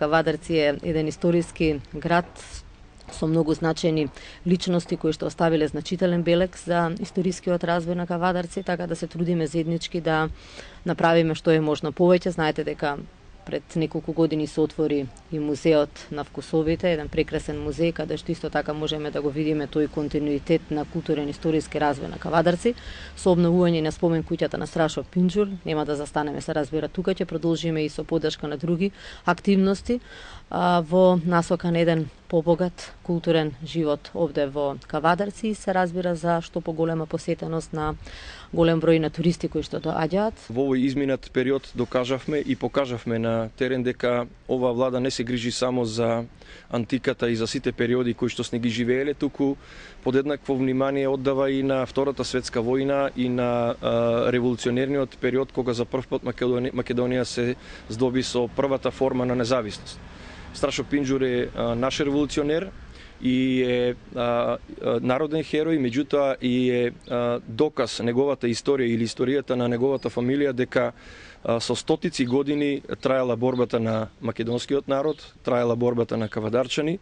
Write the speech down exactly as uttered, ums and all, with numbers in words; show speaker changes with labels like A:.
A: Кавадарци е еден историски град со многу значени личности кои што оставиле значителен белег за историскиот развој на Кавадарци, така да се трудиме заеднички да направиме што е можно повеќе. Знаете дека пред неколку години се отвори и музеот на вкусовите, еден прекрасен музеј каде што исто така можеме да го видиме тој континуитет на културен историски развој на Кавадарци со обновување на спомен куќата на Страшо Пинџур. Нема да застанеме, се разбира, тука ќе продолжиме и со поддршка на други активности а, во насока на еден побогат културен живот овде во Кавадарци и се разбира за што поголема посетеност на голем број на туристи кои што доаѓаат.
B: Во овој изминат период докажавме и покажавме на терен дека ова влада не се грижи само за антиката и за сите периоди кои што сме ги живееле, туку подеднакво внимание оддава и на Втората светска војна и на а, револуционерниот период кога за прв пат Македонија, Македонија се здоби со првата форма на независност. Страшо Пинџур е а, наш револуционер и е а, а, народен херој, меѓутоа и е а, доказ неговата историја или историјата на неговата фамилија дека а, со стотици години траела борбата на македонскиот народ, траела борбата на кавадарчани.